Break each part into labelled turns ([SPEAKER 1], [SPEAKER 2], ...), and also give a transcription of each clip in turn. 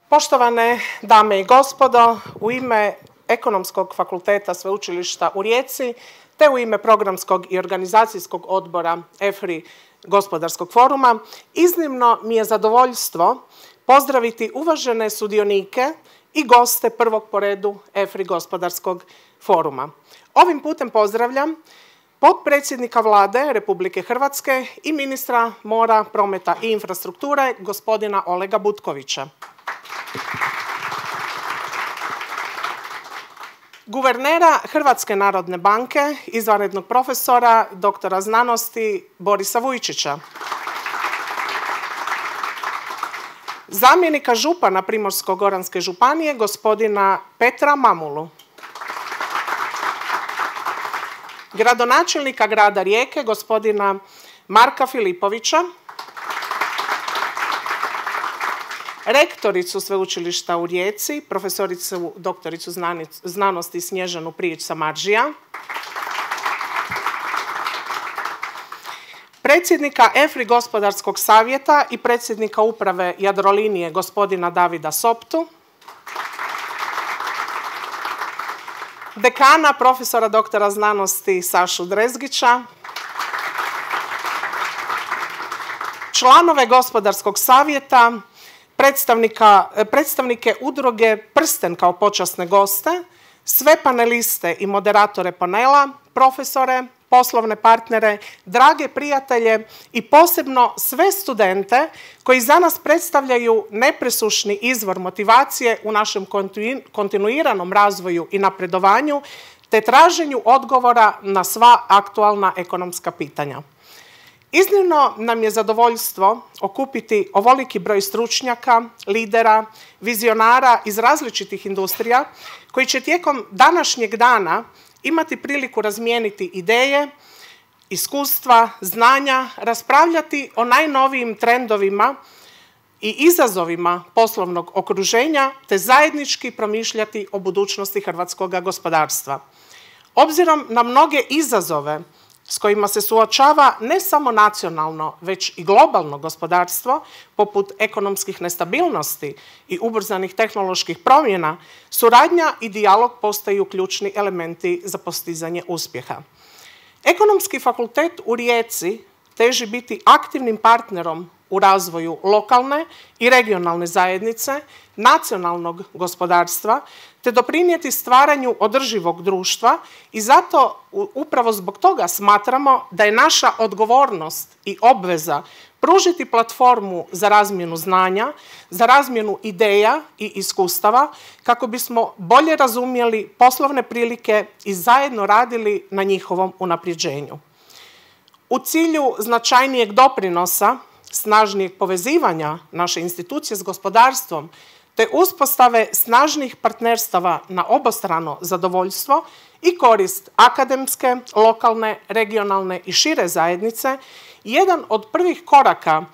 [SPEAKER 1] Poštovane dame i gospodo, u ime Ekonomskog fakulteta Sveučilišta u Rijeci te u ime Programskog i organizacijskog odbora EFRI Gospodarskog foruma, iznimno mi je zadovoljstvo pozdraviti uvažene sudionike i goste prvog po redu EFRI Gospodarskog foruma. Ovim putem pozdravljam potpredsjednika Vlade Republike Hrvatske i ministra mora, prometa i infrastrukture, gospodina Olega Butkovića. Guvernera Hrvatske narodne banke, izvanrednog profesora, doktora znanosti Borisa Vujčića. Zamjenika župana Primorsko-goranske županije, gospodina Petra Mamulu. Gradonačelnika grada Rijeke, gospodina Marka Filipovića. Rektoricu Sveučilišta u Rijeci, profesoricu doktoricu znanosti Snježanu Prijić-Samardžija. Predsjednika EFRI Gospodarskog savjeta i predsjednika uprave Jadrolinije, gospodina Davida Soptu. Dekana, profesora doktora znanosti Sašu Drezgića. Članove Gospodarskog savjeta, predstavnike udruge Prsten kao počasne goste, sve paneliste i moderatore panela, profesore, poslovne partnere, drage prijatelje i posebno sve studente koji za nas predstavljaju nepresušni izvor motivacije u našem kontinuiranom razvoju i napredovanju te traženju odgovora na sva aktualna ekonomska pitanja. Iznimno nam je zadovoljstvo okupiti ovoliki broj stručnjaka, lidera, vizionara iz različitih industrija koji će tijekom današnjeg dana imati priliku razmijeniti ideje, iskustva, znanja, raspravljati o najnovijim trendovima i izazovima poslovnog okruženja te zajednički promišljati o budućnosti hrvatskog gospodarstva. Obzirom na mnoge izazove s kojima se suočava ne samo nacionalno, već i globalno gospodarstvo, poput ekonomskih nestabilnosti i ubrzanih tehnoloških promjena, suradnja i dijalog postaju ključni elementi za postizanje uspjeha. Ekonomski fakultet u Rijeci teži biti aktivnim partnerom u razvoju lokalne i regionalne zajednice, nacionalnog gospodarstva, te doprinijeti stvaranju održivog društva i zato upravo zbog toga smatramo da je naša odgovornost i obveza pružiti platformu za razmjenu znanja, za razmjenu ideja i iskustava kako bismo bolje razumjeli poslovne prilike i zajedno radili na njihovom unapređenju. U cilju značajnijeg doprinosa, snažnijeg povezivanja naše institucije s gospodarstvom te uspostave snažnih partnerstava na obostrano zadovoljstvo i korist akademske, lokalne, regionalne i šire zajednice, jedan od prvih koraka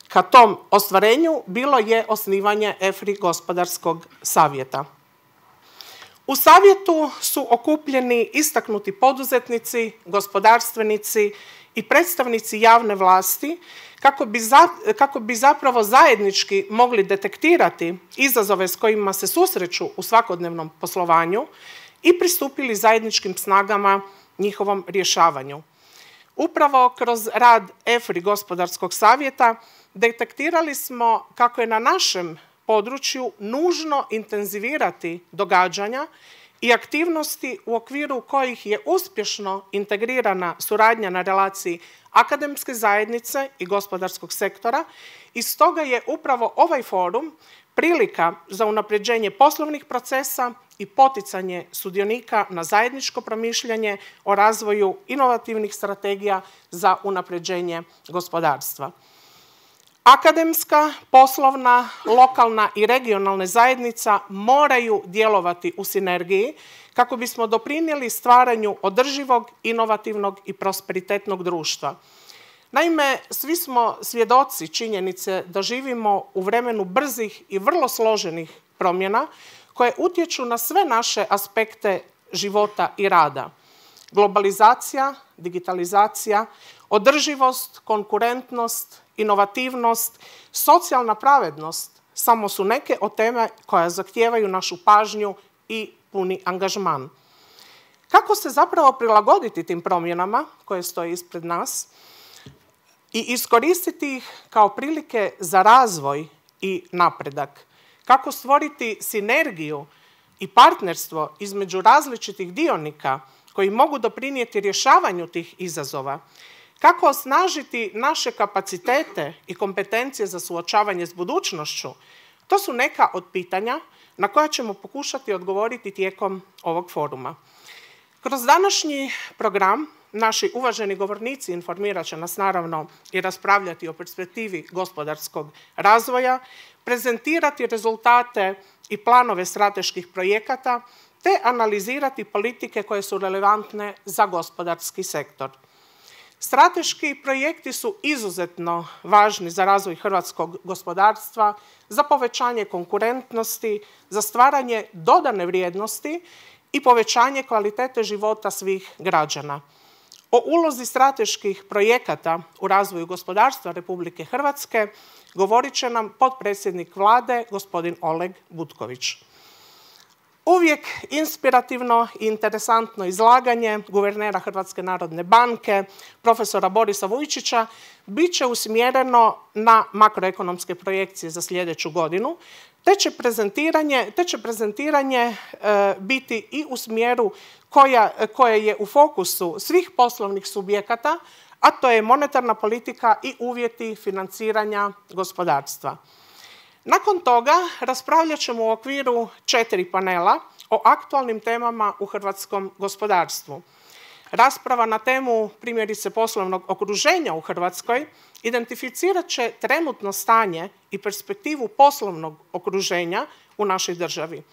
[SPEAKER 1] ka tom ostvarenju bilo je osnivanje EFRI Gospodarskog savjeta. U savjetu su okupljeni istaknuti poduzetnici, gospodarstvenici i predstavnici javne vlasti kako bi zapravo zajednički mogli detektirati izazove s kojima se susreću u svakodnevnom poslovanju i pristupili zajedničkim snagama njihovom rješavanju. Upravo kroz rad EFRI Gospodarskog savjeta detektirali smo kako je na našem području nužno intenzivirati događanja i aktivnosti u okviru kojih je uspješno integrirana suradnja na relaciji akademske zajednice i gospodarskog sektora i stoga je upravo ovaj forum prilika za unapređenje poslovnih procesa i poticanje sudionika na zajedničko promišljanje o razvoju inovativnih strategija za unapređenje gospodarstva. Akademska, poslovna, lokalna i regionalna zajednica moraju djelovati u sinergiji kako bismo doprinijeli stvaranju održivog, inovativnog i prosperitetnog društva. Naime, svi smo svjedoci činjenice da živimo u vremenu brzih i vrlo složenih promjena koje utječu na sve naše aspekte života i rada. Globalizacija, digitalizacija, održivost, konkurentnost, inovativnost, socijalna pravednost, samo su neke od teme koje zahtijevaju našu pažnju i puni angažman. Kako se zapravo prilagoditi tim promjenama koje stoje ispred nas i iskoristiti ih kao prilike za razvoj i napredak? Kako stvoriti sinergiju i partnerstvo između različitih dionika koji mogu doprinijeti rješavanju tih izazova? Kako osnažiti naše kapacitete i kompetencije za suočavanje s budućnošću? To su neka od pitanja na koja ćemo pokušati odgovoriti tijekom ovog foruma. Kroz današnji program naši uvaženi govornici informirat će nas naravno i raspravljati o perspektivi gospodarskog razvoja, prezentirati rezultate i planove strateških projekata te analizirati politike koje su relevantne za gospodarski sektor. Strateški projekti su izuzetno važni za razvoj hrvatskog gospodarstva, za povećanje konkurentnosti, za stvaranje dodane vrijednosti i povećanje kvalitete života svih građana. O ulozi strateških projekata u razvoju gospodarstva Republike Hrvatske govorit će nam potpredsjednik Vlade, gospodin Oleg Butković. Uvijek inspirativno i interesantno izlaganje guvernera Hrvatske narodne banke, profesora Borisa Vujčića, bit će usmjereno na makroekonomske projekcije za sljedeću godinu, te će prezentiranje biti i u smjeru koje je u fokusu svih poslovnih subjekata, a to je monetarna politika i uvjeti financiranja gospodarstva. Nakon toga raspravljat ćemo u okviru 4 panela o aktualnim temama u hrvatskom gospodarstvu. Rasprava na temu primjerice poslovnog okruženja u Hrvatskoj identificirat će trenutno stanje i perspektivu poslovnog okruženja u našoj državi.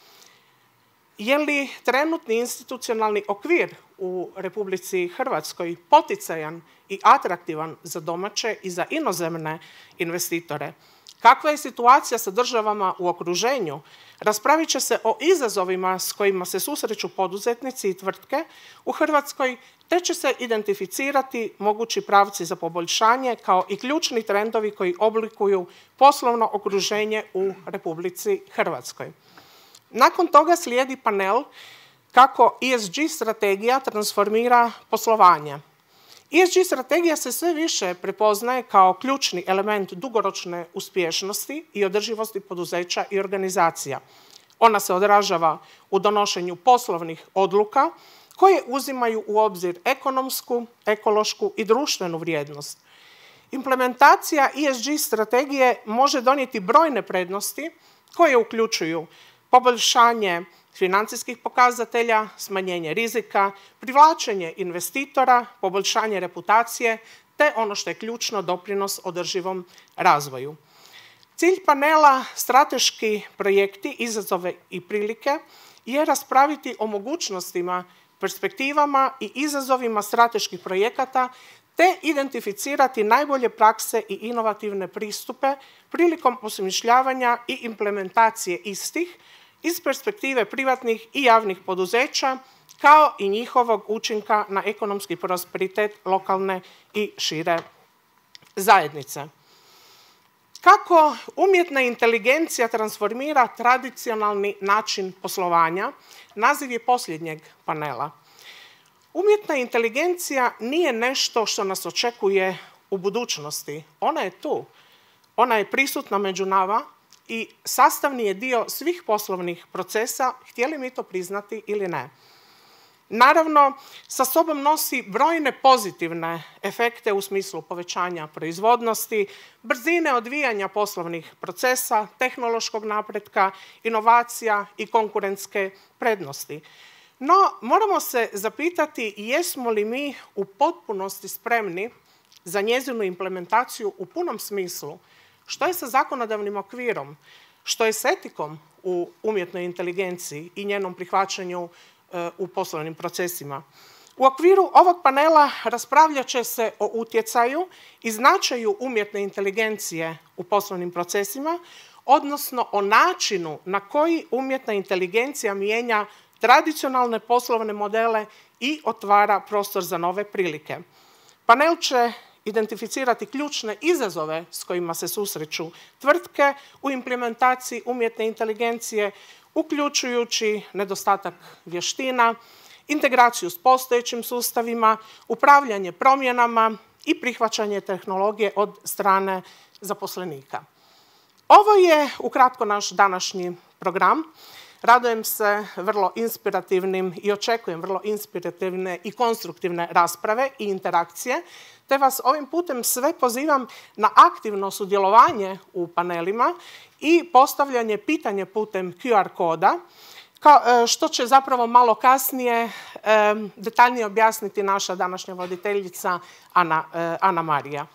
[SPEAKER 1] Je li trenutni institucionalni okvir u Republici Hrvatskoj poticajan i atraktivan za domaće i za inozemne investitore? Kakva je situacija sa državama u okruženju? Raspravit će se o izazovima s kojima se susreću poduzetnici i tvrtke u Hrvatskoj, te će se identificirati mogući pravci za poboljšanje kao i ključni trendovi koji oblikuju poslovno okruženje u Republici Hrvatskoj. Nakon toga slijedi panel kako ESG strategija transformira poslovanje. ESG strategija se sve više prepoznaje kao ključni element dugoročne uspješnosti i održivosti poduzeća i organizacija. Ona se odražava u donošenju poslovnih odluka koje uzimaju u obzir ekonomsku, ekološku i društvenu vrijednost. Implementacija ESG strategije može donijeti brojne prednosti koje uključuju poboljšanje financijskih pokazatelja, smanjenje rizika, privlačenje investitora, poboljšanje reputacije, te ono što je ključno, doprinos održivom razvoju. Cilj panela Strateški projekti, izazove i prilike je raspraviti o mogućnostima, perspektivama i izazovima strateških projekata te identificirati najbolje prakse i inovativne pristupe prilikom osmišljavanja i implementacije istih iz perspektive privatnih i javnih poduzeća, kao i njihovog učinka na ekonomski prosperitet lokalne i šire zajednice. Kako umjetna inteligencija transformira tradicionalni način poslovanja, naziv je posljednjeg panela. Umjetna inteligencija nije nešto što nas očekuje u budućnosti. Ona je tu. Ona je prisutna među nama i sastavni je dio svih poslovnih procesa, htjeli mi to priznati ili ne. Naravno, sa sobom nosi brojne pozitivne efekte u smislu povećanja proizvodnosti, brzine odvijanja poslovnih procesa, tehnološkog napretka, inovacija i konkurentske prednosti. No, moramo se zapitati jesmo li mi u potpunosti spremni za njezinu implementaciju u punom smislu. Što je sa zakonodavnim okvirom? Što je s etikom u umjetnoj inteligenciji i njenom prihvaćanju u poslovnim procesima? U okviru ovog panela raspravljat će se o utjecaju i značaju umjetne inteligencije u poslovnim procesima, odnosno o načinu na koji umjetna inteligencija mijenja tradicionalne poslovne modele i otvara prostor za nove prilike. Panel će identificirati ključne izazove s kojima se susreću tvrtke u implementaciji umjetne inteligencije, uključujući nedostatak vještina, integraciju s postojećim sustavima, upravljanje promjenama i prihvaćanje tehnologije od strane zaposlenika. Ovo je ukratko naš današnji program. Radujem se vrlo inspirativnim i očekujem vrlo inspirativne i konstruktivne rasprave i interakcije, te vas ovim putem sve pozivam na aktivno sudjelovanje u panelima i postavljanje pitanja putem QR koda, što će zapravo malo kasnije detaljnije objasniti naša današnja voditeljica Ana Marija.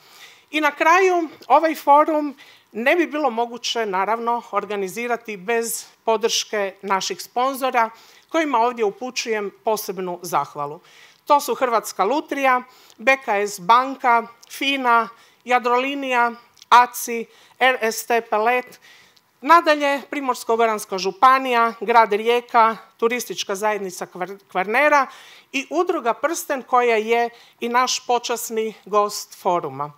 [SPEAKER 1] I na kraju, ovaj forum ne bi bilo moguće, naravno, organizirati bez podrške naših sponzora, kojima ovdje upućujem posebnu zahvalu. To su Hrvatska lutrija, BKS banka, FINA, Jadrolinija, ACI, RST Pelet, nadalje Primorsko-goranska županija, grad Rijeka, Turistička zajednica Kvarnera i udruga Prsten koja je i naš počasni gost foruma.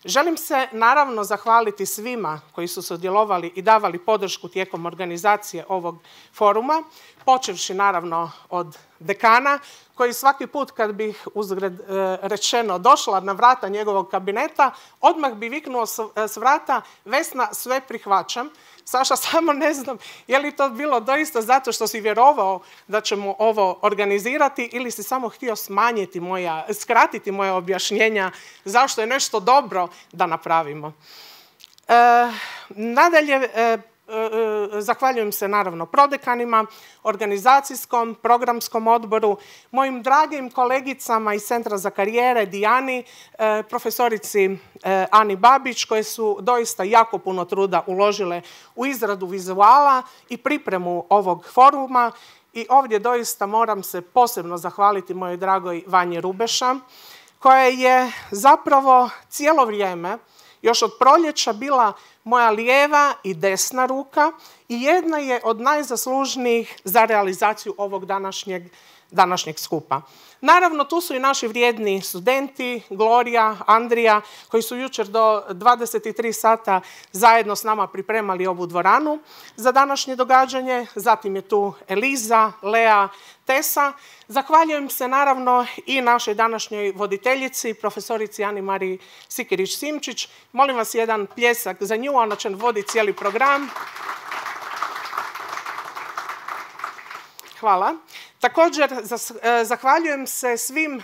[SPEAKER 1] Želim se naravno zahvaliti svima koji su sudjelovali i davali podršku tijekom organizacije ovog foruma, počevši naravno od dekana, koji svaki put kad bih uzgred rečeno došla na vrata njegovog kabineta, odmah bi viknuo s vrata: Vesna, sve prihvaćam. Saša, samo ne znam je li to bilo doista zato što si vjerovao da ćemo ovo organizirati ili si samo htio skratiti moja objašnjenja zašto je nešto dobro da napravimo. Nadalje, zahvaljujem se naravno prodekanima, organizacijskom, programskom odboru, mojim dragim kolegicama iz Centra za karijere, Dijani, profesorici Ani Babić, koje su doista jako puno truda uložile u izradu vizuala i pripremu ovog foruma. I ovdje doista moram se posebno zahvaliti mojoj dragoj Vanji Rubeša, koja je zapravo cijelo vrijeme, još od proljeća, bila moja lijeva i desna ruka i jedna je od najzaslužnijih za realizaciju ovog današnjeg skupa. Naravno, tu su i naši vrijedni studenti, Gloria, Andrija, koji su jučer do 23 sata zajedno s nama pripremali ovu dvoranu za današnje događanje. Zatim je tu Eliza, Lea, Tesa. Zahvaljujem se naravno i našoj današnjoj voditeljici, profesorici Ani Mariji Sikirić-Simčić. Molim vas jedan pljesak za nju, ona će voditi cijeli program. Hvala. Također, zahvaljujem se svim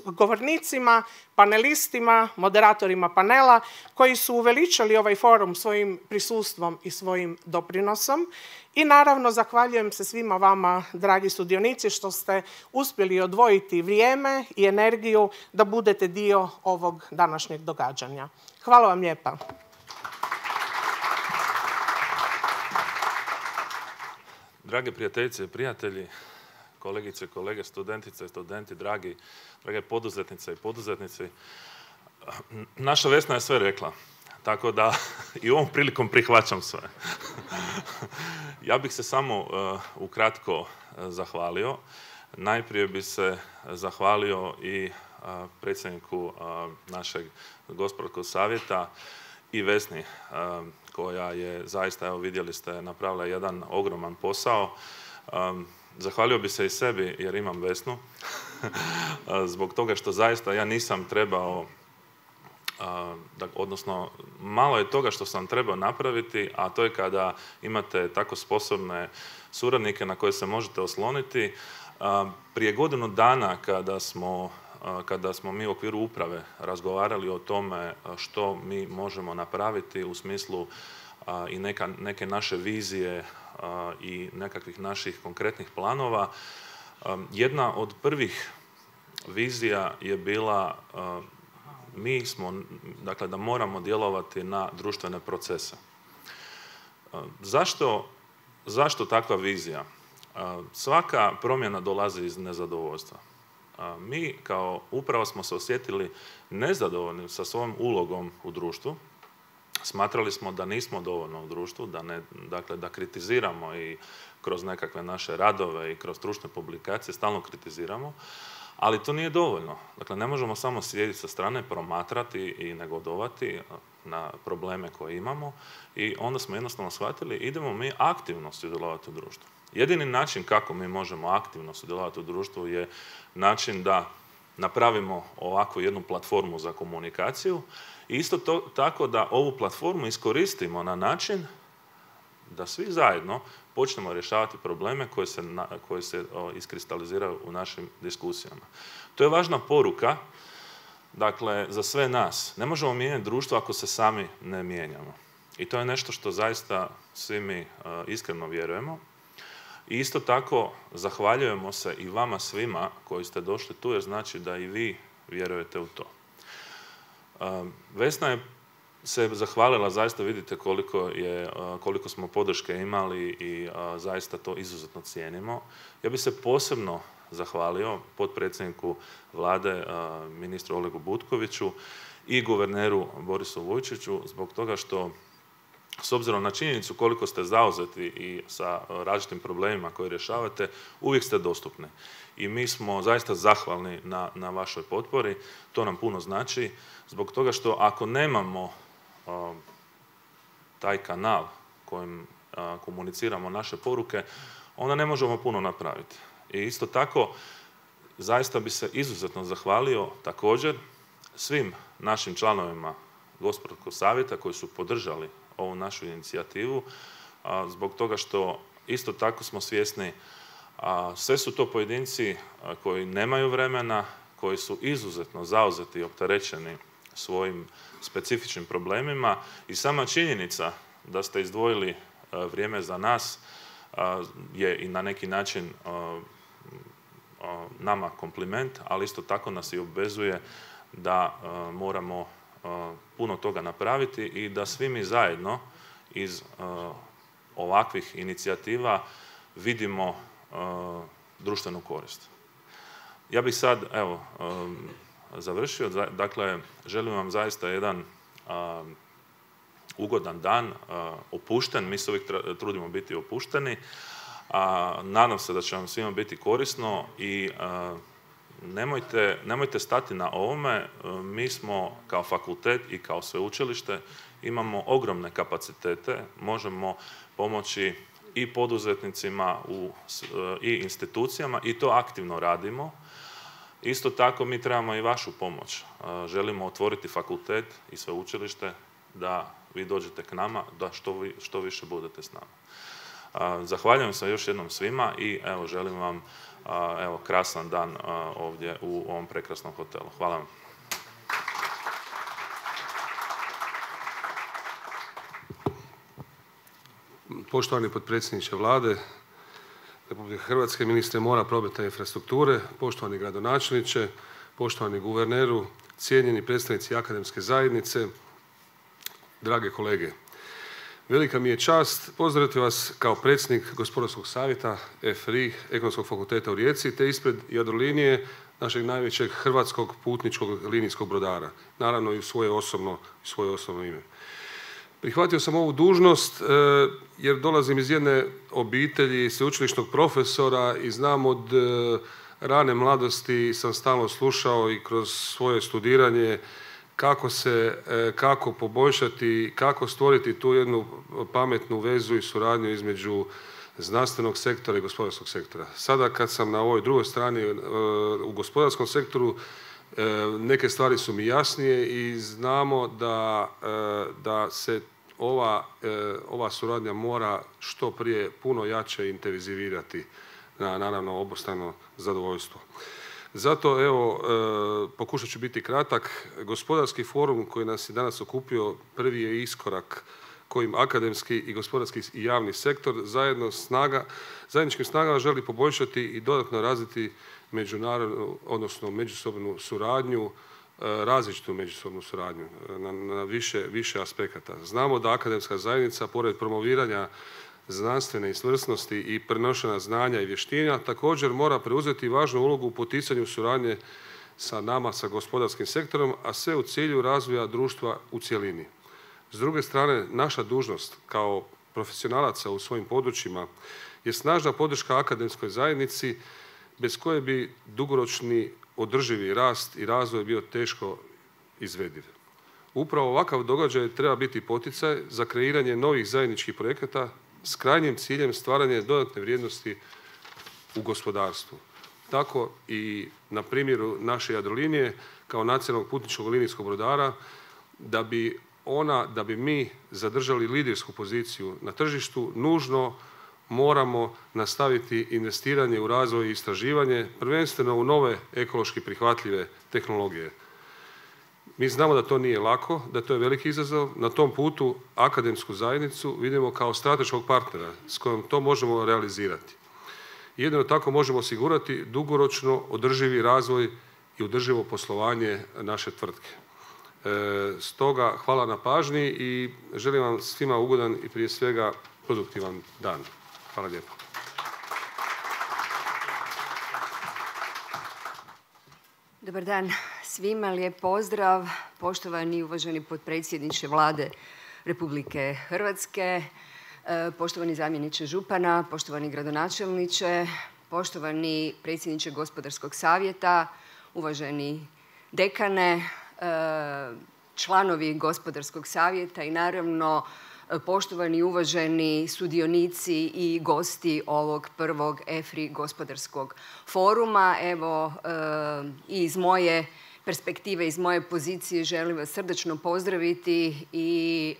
[SPEAKER 1] govornicima, panelistima, moderatorima panela koji su uveličali ovaj forum svojim prisustvom i svojim doprinosom. I naravno, zahvaljujem se svima vama, dragi sudionici, što ste uspjeli odvojiti vrijeme i energiju da budete dio ovog današnjeg događanja. Hvala vam lijepa.
[SPEAKER 2] Drage prijateljice i prijatelji, kolegice i kolege, studentice i studenti, drage poduzetnice i poduzetnici, naša Vesna je sve rekla, tako da i ovom prilikom prihvaćam sve. Ja bih se samo ukratko zahvalio. Najprije bi se zahvalio i predsjedniku našeg gospodarskog savjeta i Vesni, koja je zaista, evo vidjeli ste, napravila jedan ogroman posao. Zahvalio bi se i sebi jer imam Vesnu, zbog toga što zaista ja nisam trebao, odnosno malo je toga što sam trebao napraviti, a to je kada imate tako sposobne suradnike na koje se možete osloniti. Prije godinu dana kada smo mi u okviru uprave razgovarali o tome što mi možemo napraviti u smislu i neke naše vizije i nekakvih naših konkretnih planova, jedna od prvih vizija je bila da moramo djelovati na društvene procese. Zašto takva vizija? Svaka promjena dolazi iz nezadovoljstva. Mi kao uprava smo se osjetili nezadovoljni sa svojom ulogom u društvu. Smatrali smo da nismo dovoljno u društvu, da kritiziramo i kroz nekakve naše radove i kroz stručne publikacije stalno kritiziramo, Ali to nije dovoljno. Dakle, ne možemo samo sjediti sa strane, promatrati i negodovati na probleme koje imamo i onda smo jednostavno shvatili idemo mi aktivno sudjelovati u društvu. Jedini način kako mi možemo aktivno sudjelovati u društvu je način da napravimo ovakvu jednu platformu za komunikaciju i isto tako da ovu platformu iskoristimo na način da svi zajedno počnemo rješavati probleme koje se iskristaliziraju u našim diskusijama. To je važna poruka, dakle, za sve nas. Ne možemo mijenjati društvo ako se sami ne mijenjamo. I to je nešto što zaista svi mi iskreno vjerujemo. I isto tako zahvaljujemo se i vama svima koji ste došli tu, jer znači da i vi vjerujete u to. Vesna je se zahvalila, zaista vidite koliko smo podrške imali i zaista to izuzetno cijenimo. Ja bih se posebno zahvalio potpredsjedniku Vlade, ministru Olegu Butkoviću i guverneru Borisu Vujčiću zbog toga što, s obzirom na činjenicu koliko ste zauzeti i sa različitim problemima koje rješavate, uvijek ste dostupni. I mi smo zaista zahvalni na vašoj potpori. To nam puno znači, zbog toga što ako nemamo taj kanal kojim komuniciramo naše poruke, onda ne možemo puno napraviti. I isto tako, zaista bi se izuzetno zahvalio također svim našim članovima Gospodarskog savjeta koji su podržali ovu našu inicijativu, zbog toga što isto tako smo svjesni, sve su to pojedinci koji nemaju vremena, koji su izuzetno zauzeti i opterećeni svojim specifičnim problemima i sama činjenica da ste izdvojili vrijeme za nas je i na neki način nama kompliment, ali isto tako nas i obvezuje da moramo puno toga napraviti i da svi mi zajedno iz ovakvih inicijativa vidimo društvenu korist. Ja bih sad, evo, završio. Dakle, želim vam zaista jedan ugodan dan, opušten. Mi se uvijek trudimo biti opušteni. Nadam se da će vam svima biti korisno i nemojte stati na ovome. Mi smo kao fakultet i kao sveučilište imamo ogromne kapacitete. Možemo pomoći i poduzetnicima i institucijama i to aktivno radimo. Isto tako mi trebamo i vašu pomoć. Želimo otvoriti fakultet i sveučilište da vi dođete k nama, da što više budete s nama. Zahvaljujem se još jednom svima i evo, želim vam krasan dan ovdje u ovom prekrasnom hotelu. Hvala vam.
[SPEAKER 3] Poštovani potpredsjedniče Vlade Republike Hrvatske, ministre mora, prometa i infrastrukture, poštovani gradonačelniče, poštovani guverneru, cijenjeni predstavnici akademske zajednice, drage kolege. Velika mi je čast pozdraviti vas kao predsjednik Gospodarskog savjeta FRI Ekonomskog fakulteta u Rijeci te ispred Jadrolinije, našeg najvećeg hrvatskog putničkog linijskog brodara. Naravno i u svoje osobno ime. Prihvatio sam ovu dužnost jer dolazim iz jedne obitelji sveučilišnog profesora i znam od rane mladosti sam stalno slušao i kroz svoje studiranje kako poboljšati, kako stvoriti tu jednu pametnu vezu i suradnju između znanstvenog sektora i gospodarskog sektora. Sada kad sam na ovoj drugoj strani u gospodarskom sektoru, neke stvari su mi jasnije i znamo da se ova suradnja mora što prije puno jače intenzivirati na naravno obostrano zadovoljstvo. Zato evo, pokušat ću biti kratak. Gospodarski forum koji nas je danas okupio prvi je iskorak kojim akademski i gospodarski i javni sektor zajedničkim snagama želi poboljšati i dodatno razviti međunarodnu, odnosno međusobnu suradnju, različitu međusobnu suradnju na više aspekata. Znamo da akademska zajednica, pored promoviranja znanstvene izvrsnosti i prenošenja znanja i vještina, također mora preuzeti važnu ulogu u poticanju suradnje sa nama, sa gospodarskim sektorom, a sve u cilju razvoja društva u cjelini. S druge strane, naša dužnost kao profesionalaca u svojim područjima je snažna podrška akademskoj zajednici bez koje bi dugoročni održivi rast i razvoj bio teško izvediv. Upravo ovakav događaj treba biti poticaj za kreiranje novih zajedničkih projekata s krajnjim ciljem stvaranja dodatne vrijednosti u gospodarstvu. Tako i na primjeru naše Jadrolinije kao nacionalnog putničkog linijskog brodara, da bi mi zadržali lidersku poziciju na tržištu, nužno moramo nastaviti investiranje u razvoj i istraživanje, prvenstveno u nove ekološki prihvatljive tehnologije. Mi znamo da to nije lako, da to je veliki izazov. Na tom putu akademsku zajednicu vidimo kao strateškog partnera s kojim to možemo realizirati. Jedino tako možemo osigurati dugoročno održivi razvoj i održivo poslovanje naše tvrtke. Stoga hvala na pažnji i želim vam svima ugodan i prije svega produktivan dan. Hvala lijepo.
[SPEAKER 4] Dobar dan svima, lijep pozdrav. Poštovani i uvaženi potpredsjedniče Vlade Republike Hrvatske, poštovani zamjeniče župana, poštovani gradonačelniče, poštovani predsjedniče Gospodarskog savjeta, uvaženi dekane, članovi Gospodarskog savjeta i naravno poštovani i uvaženi sudionici i gosti ovog prvog EFRI gospodarskog foruma. Evo, i iz moje perspektive, iz moje pozicije želim vas srdačno pozdraviti i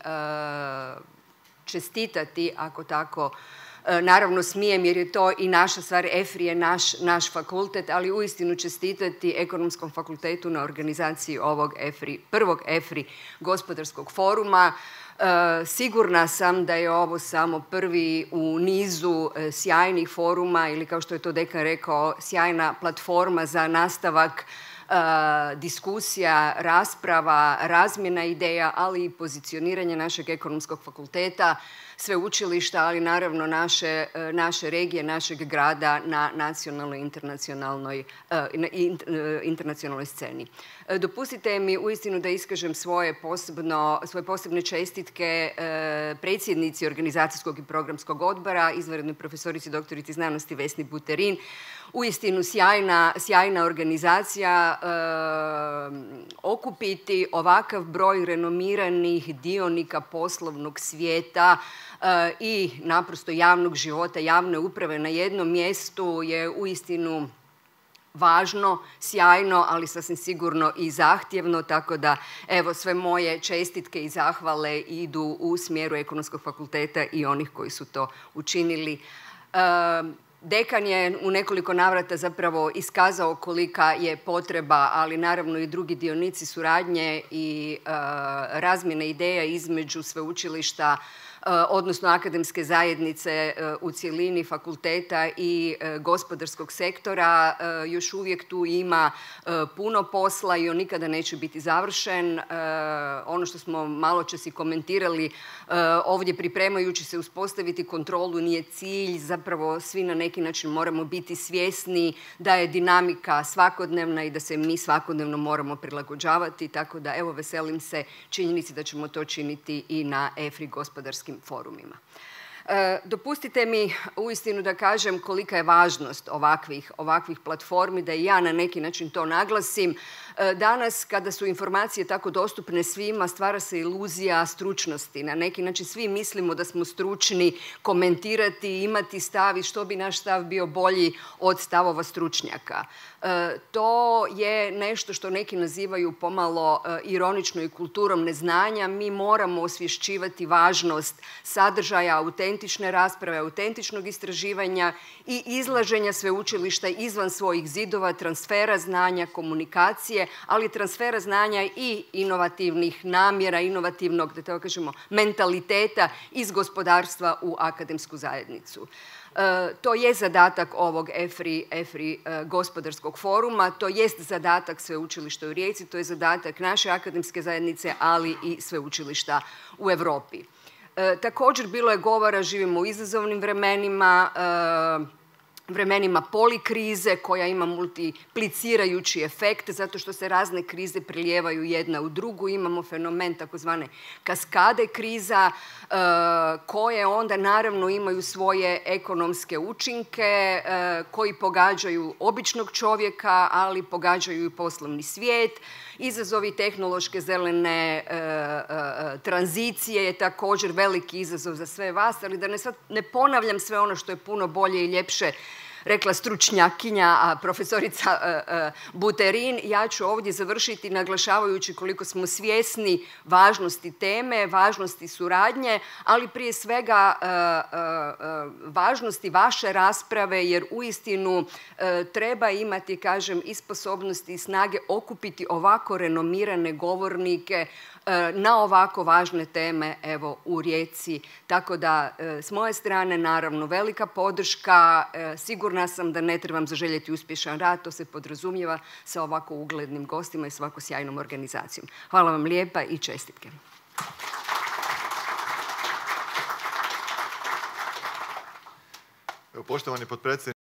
[SPEAKER 4] čestitati, ako tako naravno smijem, jer je to i naša stvar. EFRI je naš fakultet, ali uistinu čestitati Ekonomskom fakultetu na organizaciji ovog prvog EFRI gospodarskog foruma. Sigurna sam da je ovo samo prvi u nizu sjajnih foruma ili, kao što je to dekan rekao, sjajna platforma za nastavak diskusija, rasprava, razmjena ideja, ali i pozicioniranje našeg Ekonomskog fakulteta, sveučilišta, ali naravno naše regije, našeg grada na nacionalnoj i internacionalnoj sceni. Dopustite mi uistinu da iskažem svoje posebne čestitke predsjednici Organizacijskog i programskog odbora, izvanrednoj profesorici doktorici znanosti Vesni Buterin. Uistinu sjajna organizacija, okupiti ovakav broj renomiranih dionika poslovnog svijeta i naprosto javnog života, javne uprave na jednom mjestu je uistinu važno, sjajno, ali sasvim sigurno i zahtjevno, tako da evo sve moje čestitke i zahvale idu u smjeru Ekonomskog fakulteta i onih koji su to učinili. Dekan je u nekoliko navrata zapravo iskazao kolika je potreba, ali naravno i drugi dionici suradnje i razmjene ideja između sveučilišta, odnosno akademske zajednice u cjelini, fakulteta i gospodarskog sektora. Još uvijek tu ima puno posla i on nikada neće biti završen. Ono što smo maločas i komentirali ovdje pripremajući se uspostaviti kontrolu nije cilj. Zapravo svi na neki način moramo biti svjesni da je dinamika svakodnevna i da se mi svakodnevno moramo prilagođavati. Tako da evo, veselim se činjenici da ćemo to činiti i na EFRI gospodarskim forumima. Dopustite mi uistinu da kažem kolika je važnost ovakvih platformi, da i ja na neki način to naglasim. Danas, kada su informacije tako dostupne svima, stvara se iluzija stručnosti. Na neki način svi mislimo da smo stručni komentirati, imati stav i što bi naš stav bio bolji od stavova stručnjaka. To je nešto što neki nazivaju pomalo ironično i kulturom neznanja. Mi moramo osvješćivati važnost sadržaja, autentične rasprave, autentičnog istraživanja i izlaženja sveučilišta izvan svojih zidova, transfera znanja, komunikacije, ali transfera znanja i inovativnih namjera, inovativnog, da tako kažemo, mentaliteta iz gospodarstva u akademsku zajednicu. To je zadatak ovog EFRI gospodarskog foruma, to jest zadatak sveučilišta u Rijeci, to je zadatak naše akademske zajednice, ali i sveučilišta u Europi. Također bilo je govora, živimo u izazovnim vremenima, vremenima polikrize koja ima multiplicirajući efekt zato što se razne krize prilijevaju jedna u drugu. Imamo fenomen takozvane kaskade kriza koje onda naravno imaju svoje ekonomske učinke koji pogađaju običnog čovjeka, ali pogađaju i poslovni svijet. Izazovi tehnološke zelene tranzicije je također veliki izazov za sve vas, ali da ne ponavljam sve ono što je puno bolje i ljepše rekla stručnjakinja, profesorica Buterin, ja ću ovdje završiti naglašavajući koliko smo svjesni važnosti teme, važnosti suradnje, ali prije svega važnosti vaše rasprave, jer uistinu treba imati, kažem, i sposobnosti i snage okupiti ovako renomirane govornike na ovako važne teme, evo, u Rijeci. Tako da, s moje strane, naravno, velika podrška. Sigurna sam da ne trebam zaželjeti uspješan rad, to se podrazumijeva sa ovako uglednim gostima i s ovako sjajnom organizacijom. Hvala vam lijepa i čestitke.
[SPEAKER 5] Poštovani potpredsjedniče